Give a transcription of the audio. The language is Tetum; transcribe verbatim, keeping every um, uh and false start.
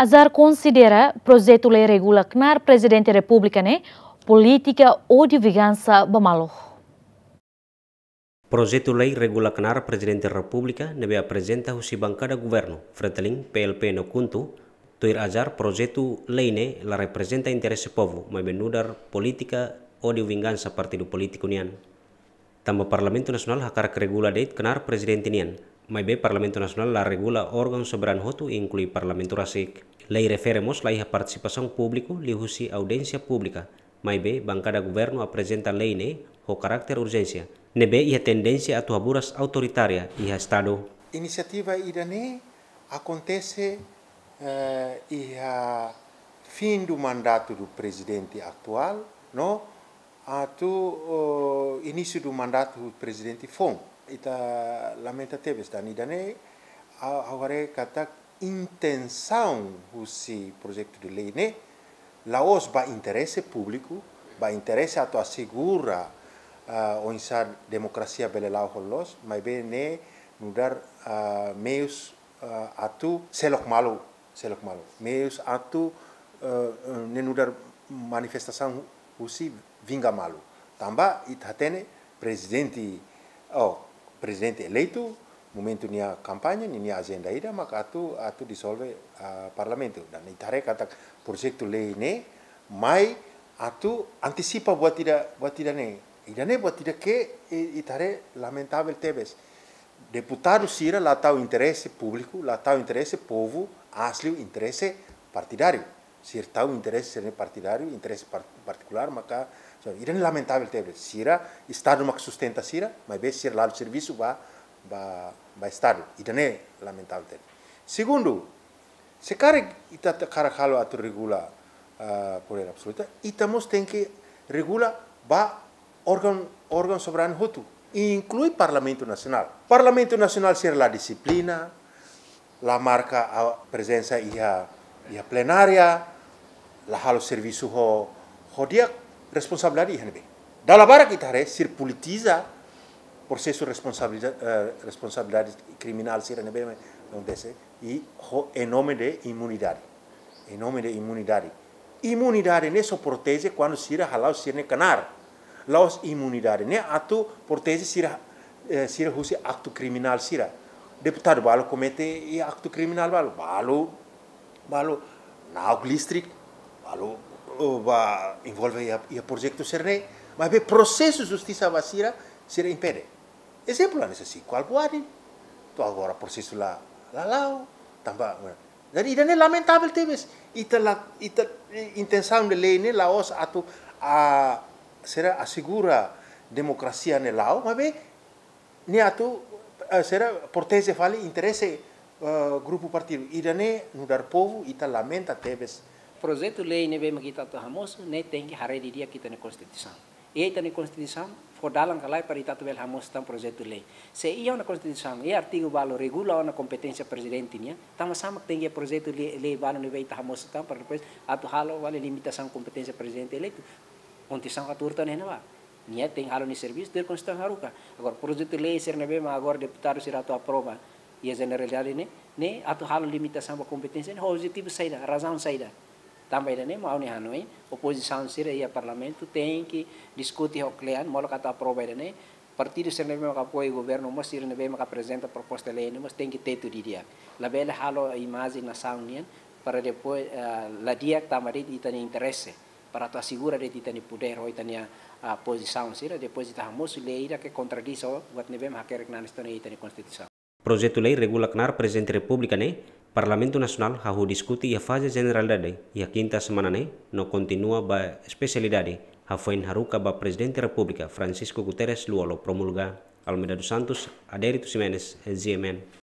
Azar konsidera projetu lei regula knaar Prezidente Repúblika ne'e polítika ódiu vingansa ba malu. Projetu lei regula knaar Prezidente Repúblika ne'ebé aprezenta husi bankada governu, Fretilin, P L P no KHUNTO, tuir Azar projetu lei ne'e la reprezenta interese povu, maibé nu'udar polítika ódiu vingansa partidu polítiku nian. Tanba Parlamentu Nasionál hakarak regula de'it knaar Prezidente nian, maibé Parlamentu Nasionál la regula órgaun soberanu hotu, inklui Parlamentu rasik. Lei refere mós la iha partisipasaun públiku liuhusi audiénsia públika, maibé bankada governu aprezenta lei ne'e ho karakter urjénsia, ne'ebé iha tendénsia atu haburas autoritária iha Estadu. Inisiativa ida-ne'e akontese, eh, iha fim do mandato do presidente atual, no atu, oh, início do mandato do presidente foun. Ita lamenta tebes, tanba ida-ne'e, ha'u, ha'u haree katak intensaun husi projetu de lei ne'e la'ós ba interese públiku, ba interese atu asegura, ah, oinsá demokrasia bele la'o ho loos, maibé ne'e nu'udar, ah, meius, ah, atu seluk malu, seluk malu. Meius atu, eh, eh, ne'e nu'udar manifestasaun husi vinga malu. Tanba ita hatene prezidente, oh, prezidente eleitu, momentu nia kampaña, ninia ajenda ida, maka atu, atu disolve, ah, parlamentu. Tanba ita haree katak projetu lei ne'e mai atu antisipa buat ida, buat ida-ne'e. Ida-ne'e buat ida ke, eh, ita haree lamentavel tebes. Deputadu sira la tau interese públiku, la tau interese povu, asli interese partidáriu. Sira tau interese sira-nia partidáriu, interese par-, partikulár, maka, so, ida-ne'e lamentavel tebes. Sira, Estadu mak sustenta sira, maibé sira la'o servisu ba, ba, ba Estadu. Ida-ne'e lamentavel tebes. Segundu, se karik ita, ita hakarak halo atu regula, ah, podér absolutu, ita mós tenke regula ba órgaun, órgaun soberanu hotu, inklui Parlamentu Nasionál. Parlamentu Nasionál sira la dixiplina, la marka, ah, prezensa iha, iha plenária, la halo servisu ho, ho di'ak, responsabilidade iha ne'ebé. Dala barak ita haree sira politiza prosesu responsabilida-, eh, responsabilidade kriminál sira ne'ebé akontese, i ho, em nome de imunidade. Em nome de imunidade. Imunidade ne'e só proteje kuandu sira hala'o sira-nia knaar. La'ós imunidade ne'e atu proteje sira, eh, sira husi aktu kriminál sira. Deputadu balu komete iha aktu kriminál balu, balu, balu na'ok listrik, balu, oh, ba envolve iha, iha projetu sira-ne'e, maibé prosesu justisa ba sira, sira impede. Ezemplu, hanesan Chico Albuady, to'o agora prosesu la, la la'o, tanba, jadi ida-ne'e lamentavel tebes, ita la, ita, eh, intensaun de lei ne'e la'ós atu, ah, sira asegura demokrasia ne'e la'o, maibé ne'e atu, eh, sira proteje fali interese, eh, grupu partidu. Ida-ne'e nu'udar povu, ita lamenta tebes. Projetu lei ne'ebé mak ita atu hamosu, ne'e tenke haree didi'ak ita-nia Konstituisaun. Iha ita-nia Konstituisaun fó dalan ka lae para ita atu bele hamosu tan projetu lei. Se iha ona Konstituisaun, iha artigu balu regula ona kompeténsia Prezidente nian, tanba sá mak tenke projetu lei, lei balu ne'ebé ita hamosu tan para depois atu halo fali limitasaun kompeténsia Prezidente eleitu. Konstituisaun katorze ne'e ba. Nia tenke halo nia servisu, tuir Konstituisaun haruka. Agora, projetu lei sira ne'ebé mak agora deputadu sira atu aprova iha jeneralidade ne'e, ne'e atu halo limitasaun ba kompeténsia ne'e, objetivu saida, razaun saida. Tanba ida-ne'e mak ha'u-nia hanoin, opozisaun sira iha Parlamentu tenke diskute ho kle'an, molok atu aprova ida-ne'e, partidu sira ne'ebé mak apoia governu mós, sira ne'ebé mak aprezenta proposta lei ne'e mós tenke tetu didi'ak. Labele halo imajen nasaun nian para depois, eh, la di'ak tanba de'it ita-nia interese, para atu asegura de'it ita-nia podér ho ita-nia, ah, pozisaun sira, depois ita hamosu lei ida ke kontradís ho buat ne'ebé mak hakerek nanis tone ita-nia Konstituisaun. Projetu lei regula knaar Prezidente Repúblika ne'e, Parlamentu Nasionál hahú diskute iha faze jeneralidade iha kinta semana ne'e, no kontinua ba espesialidade, hafoin haruka ba Prezidente Repúblika Francisco Guterres Lú-Olo promulga. Almeida dos Santos, Adérito Ximenes, G M N.